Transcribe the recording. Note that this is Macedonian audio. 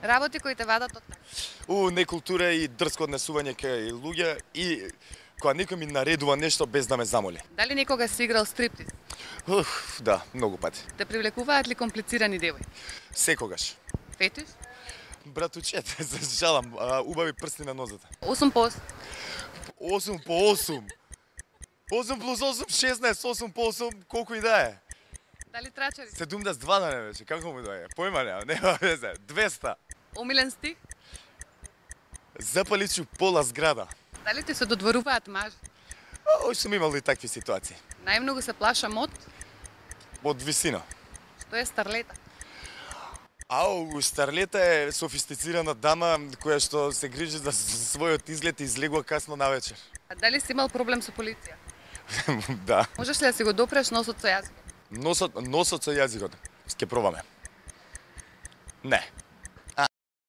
Работи кои те вадат од таа. Некултура и дрско однесување кај луѓе и кога некој ми наредува нешто без да ме замоли. Дали некогаш си играл стриптиз? Да, многу пати. Те привлекуваат ли комплицирани девојки? Секогаш. Фетиш? Братучете, се жалам, убави прсти на нозата. 8 по 8. 8 по 8. 8 плюс 8, 16, 8 по 8, колку и да е. Дали трачари? 72 да не беше, како му доаѓа? Појма нема везе, 200. Омилен стих? Запаличу пола зграда. Дали ти се додворуваат мажи? Сум имал и такви ситуации. Најмногу се плашам Од висина. што е старлета. Старлета е софистицирана дама која што се грижи за својот изглед и излегува касно навечер. А дали си имал проблем со полиција? Да. Можеш ли да си го допреш носот со јазикот? Носот со јазикот. Ќе пробаме. Не.